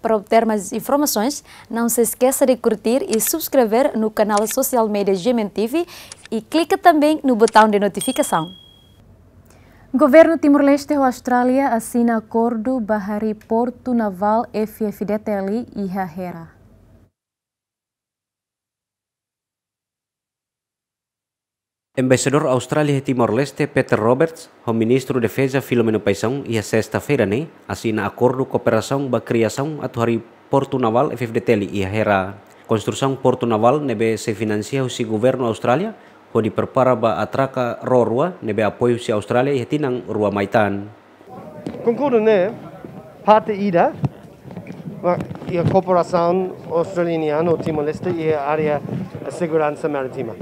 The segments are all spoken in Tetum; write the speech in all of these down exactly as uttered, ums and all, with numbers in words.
Para obter mais informações, não se esqueça de curtir e subscrever no canal social media G M N T V e clica também no botão de notificação. Governu Timor-Leste ho Austrália asina akordu ba harii Portu Navál F F D T L iha Hera. Embaixadór Austrália iha Timor-Leste, Peter Roberts, ho Ministru Defeza Filomeno Paixão, iha sesta-feira ne'e, asina akordu kooperasaun ba kriasaun atu harii Portu Navál F F D T L iha Hera. Konstrusaun Portu Navál ne'ebé sei finansia husi Governu Austrália, hodi prepara ba atraka ró rua ne'ebé apoiu husi Austrália iha tinan rua mai tan. Konkordu ne'e parte ida, ba, iha kooperasaun Australianu ho Timor-Leste iha área seguransa marítima.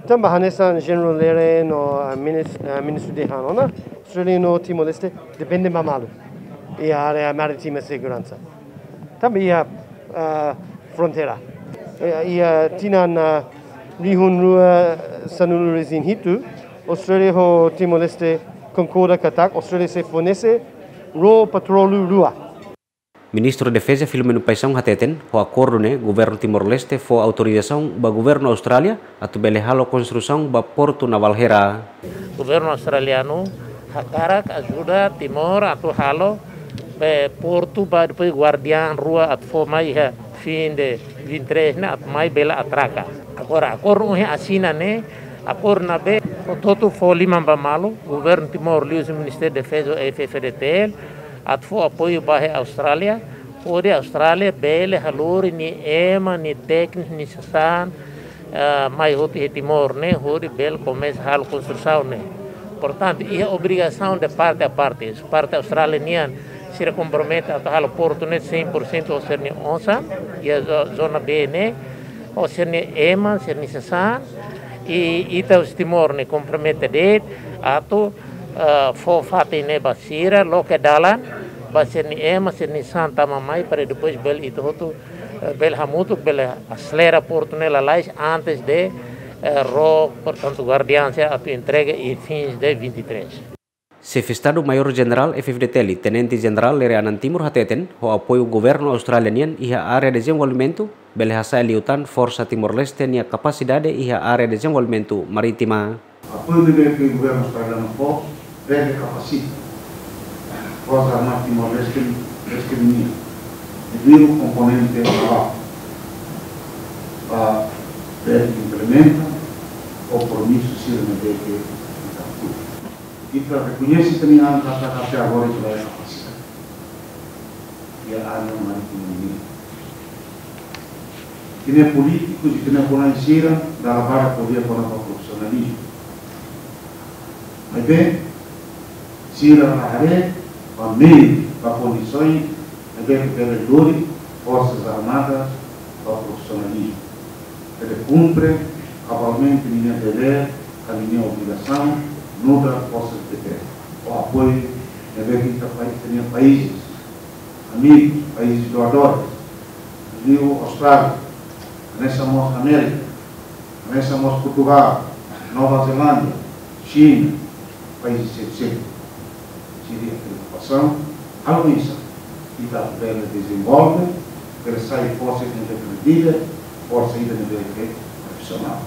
Tanba hanesan Jenerál Lere no, ah, minis-, ah, Ministru dehan ona, Australianu ho Timor-Leste depende ba malu iha área marítima seguransa. Tanba iha, ah, fronteira. Eh, iha tinan, ah, rihun rua sanulu-resin-hitu, Austrália ho Timor-Leste konkorda katak Austrália sei fornese ró petróleu rua. Ministru Defeza Filomeno Paixão hateten, ho akordu ne'e, Governu Timor-Leste fó autorizasaun ba Governu Austrália atu bele halo konstrusaun ba Portu Navál Hera. Governu australianu hakarak ajuda Timor atu halo, eh, portu ba depois Guardian rua atu fó mai iha fin de vinte e três ne'e atu mai bele atraka. Agora, akordu ohin asina ne'e, akordu ne'ebé hotu-hotu fó liman ba malu, Governu Timor liuhusi Ministériu Defeza F F D T L, atu fó apoiu ba iha Austrália, hodi Austrália bele halo nia ema, nia tékniku, nia sasán, ah, mai hotu iha Timor ne'e, hodi bele komesa halo konstrusaun ne'e. Portantu, iha obrigasaun de parte a parte. Parte Austrália nian, sira kompromete atu halo portu ne'e cem por cento ho sira-nia osan, iha zo-, zona B ne'e, ho sira-nia ema, sira-nia sasán, i ita husi Timor ne'e kompromete de'it atu, ah, fó fatin ne'e ba sira, loke dalan ba sira-nia ema, sira-nia sasán tama mai, para depois bele ita hotu, eh, bele hamutuk, bele aselera portu ne'e lalais antes de, eh, ró, portantu, Guardian sira atu entrega iha fins de vinte e três. Xefe Estadu Maiór Jenerál F F D T L, Tenente Jenerál Lere Anan Timur hateten, ho apoiu Governu Austrália nian iha área dezenvolvimentu, bele hasa'e liután forsa Timor-Leste nia kapasidade iha área dezenvolvimentu marítima. Apoiu ne'ebé ke Governu Australianu fó, bele kapasita Forsa Armada Timor-Leste, Leste nian, liuliu komponente navál, para bele implementa kompromisu sira ne'ebé ke ita. Ita rekoñese também an kata kata agora ita bele kapasita iha área marítima nian. Ita-nia polítikus, ita-nia konan sira, dala barak ko'alia kona-ba profisionalizmu. Maibé, sira la haree ba meius, ba kondisoens, ne'ebé ke bele lori Forsas Armadas ba profisionalizmu. Bele kumpre kabalmente ninia devér, ka ninia obrigasaun, nu'udar Forsas Defeza. Ho apoiu ne'ebé ke ita pai-, ita-nia países amigus, países doadores, liuliu Austrália, hanesan mós Amérika, hanesan mós Portugal, Nova Zelándia, Xina, países seluk-seluk. Sira-nia preokupasaun, algu oinsá ita bele dezenvolve, bele sai forsa ida ne'ebé kredível, forsa ida ne'ebé ke profisionál.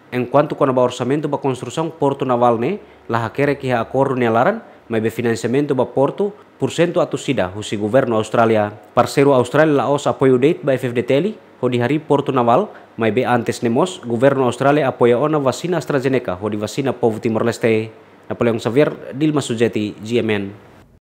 Enkuantu kona-ba orsamentu ba konstrusaun portu navál ne'e, la hakerek iha akordu nia laran, maibé finansiamentu ba portu, pursentu atus ida husi Governu Austrália. Parseiru Austrália la'ós apoiu de'it ba F F D T L, hodi harii portu navál, maibé antes ne'e mós, Governu Austrália apoia ona vasina AstraZeneca, hodi vasina povu Timor-Leste. Napoleão Xavier, Dilma Sujeti, G M N.